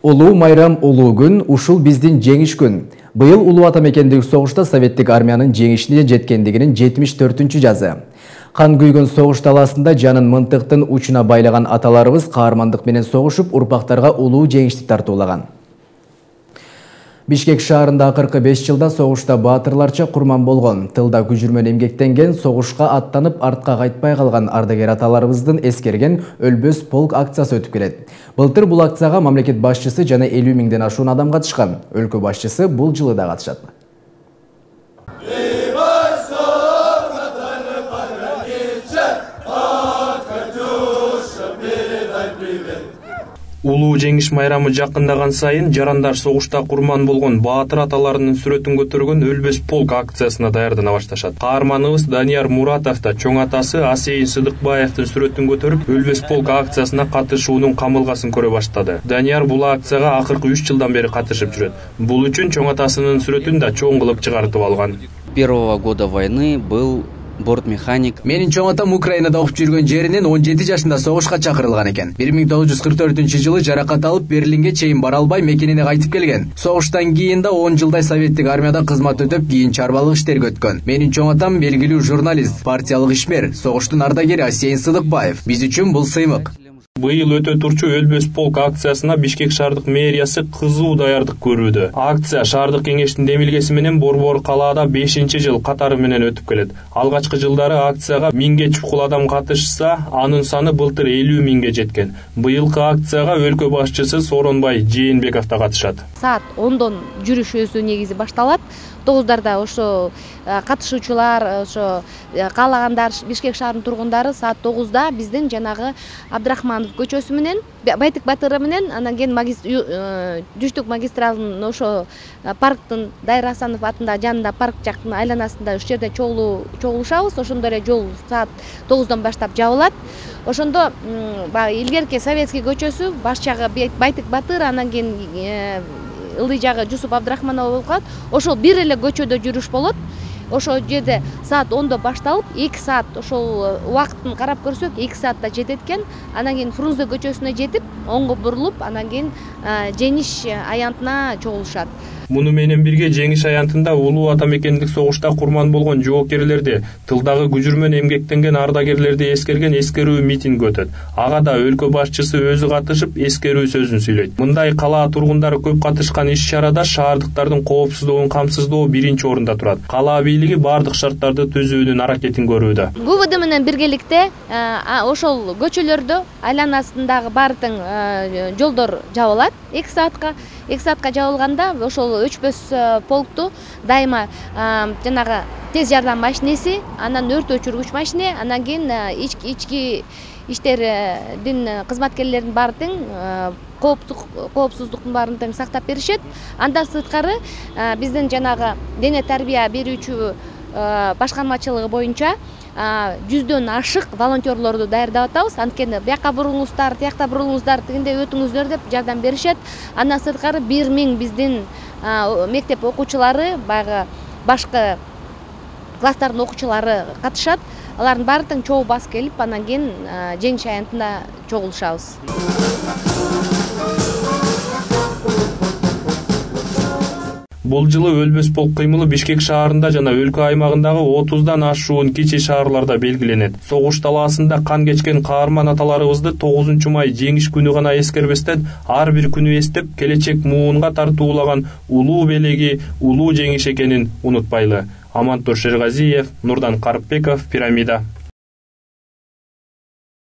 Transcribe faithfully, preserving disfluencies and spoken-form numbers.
Улуу майрам, улуу күн, ушул биздин жеңиш күн. Быйыл улуу ата мекендик согушта советтик армиянын жеңишине жеткендигинин жетимиш төртүнчү жазы. Кан күйгөн согуш талаасында жанын мынтыктын учуна байлаган аталарыбыз каармандык менен согушуп, урпактарга улуу жеңишти тартуулаган. Бишкек шаарында акыркы беш жылда согушта баатырларча курман болгон, тылда күжүрмөн эмгектенген, согушка аттанып артка кайтпай калган ардагер аталарыбыздын эскерген Өлбөс полк акциясы өтүп келет. Былтыр бул акцияга мамлекет башчысы жана элүү миңден ашуун адам катышкан. Өлкө башчысы бул жылы да катышат. Улуу жеңиш майрамы жакындаган сайын жарандар согушта курман болгон баатыр аталарынын сүрөтүн көтөргөн Өлбөс полк акциясына даярдана башташат. Каарманыбыз Данияр Муратов да чоң атасы Асейин Сыдыкбаевдин сүрөтүн көтөрүп, Өлбөс полк акциясына катышуунун камылгасын көрө баштады. Данияр бул акцияга акыркы үч жылдан бери катышып жүрөт. Бул үчүн чоң атасынын сүрөтүн да чоң кылып чыгартып алган. Первого года войны был бортмеханик. Менин чоң атам Украинада окуп жүргөн жеринен он жети жашында согушка чакырылган экен. бир миң тогуз жүз кырк төртүнчү жылы жаракат алып Берлинге чейин бара албай мекенине кайтып келген. Согуштан кийин да он жылдай советтик армияда кызмат өтөп, кийин чарбалык иштерге өткөн. Менин чоң атам белгилүү журналист, партиялык ишмер, согуштун ардагери Асейин Сыдыкбаев. Биз үчүн бул сыймык. Быйыл өтө турчу Өлбөс полк акциясына Бишкек шаардык мэриясы кызуу даярдык көрүүдө. Акция шаардык кеңештин демилгеси менен Борбор калаада бешинчи жыл катары менен өтүп келет. Алгачкы жылдары акцияга миңге чукул адам катышса, анын саны былтыр элүү миңге жеткен. Быйылкы акцияга өлкө башчысы Сооронбай Жээнбеков да катышат. Саат ондон жүрүш өзү негизи башталат. тогуздарда ошо катышуучулар, ошо каалагандар, Бишкек шаарынын тургундары саат тогузда биздин жанагы Абдрахманов көчөсү менен, Байтык батыры менен, анан кийин Жүштүк магистралынын ошо парктын Дайыр Асанов атындагы жанында парк жактын айланасында ошол жерде чогулушабыз. Ошондо эле жол саат тогуздан баштап жабылат. Ошондо баягы илгерки Советский көчөсү, баш жагы Байтык батыр, анан кийин ылдый жагы Жусуп Абдрахманов болуп калат. Ошол бир эле көчөдө жүрүш болот. Ошол жерде саат ондо башталып, эки саат ошол убакытын карап көрсөк, эки саатта жетет экен. Анан кийин Фрунзе көчөсүнө жетип, оңго бурулуп, анан кийин жеңиш аянтына чогулушат. Муну менен бирге жеңиш аянтында улуу ата мекендик согушта курман болгон жоокерлерди, тылдагы күжүрмөн эмгектенген ардагерлерди эскерген эскерүү митинг өтөт. Ага да өлкө башчысы өзү катышып, эскерүү сөзүн сүйлөйт. Мындай калаа тургундары көп катышкан иш-чарада шаардыктардын коопсуздугун камсыздоо биринчи орунда турат. Калаа бийлиги бардык шарттарды түзүүнүн аракетин көрүүдө. ГУВД менен биргеликте ошол көчөлөрдө айланасындагы бардык жолдор жабылат эки саатка. эки саатка жабылганда ошол Өчпөс полкту дайыма жанагы тез жардам машинеси, анан өрт өчүргүч машине, анан кийин ички иштердин кызматкерлеринин баары тең коопсуздуктун баарын тең сактап беришет. Андан сырткары биздин жанагы дене тарбия берүүчү башкармачылыгы боюнча жүздөн ашык волонтерлорду даярдап атабыз. Анткени бияка буруңуздар, тиякта буруңуздар, тигинде өтүңүздөр деп жардам беришет. Андан сырткары бир миң биздин мектеп окуучулары, баягы башкы класстардын окуучулары катышат. Алардын баары тең чогуу басып келип, анан кийин жеңиш аянтында чогулушабыз. Бул жылы Өлбөс полк кыймылы Бишкек шаарында жана өлкө аймагындагы отуздан ашуун кичи шаарларда белгиленет. Согуш талаасында кан кечкен каарман аталарыбызды тогузунчу май жеңиш күнү гана эскербестен, ар бир күнү эстеп, келечек муунга тартуулаган улуу белеги, улуу жеңиш экенин унутпайлы. Амантур Шерғазиев, Нурдан Карпбеков, Пирамида.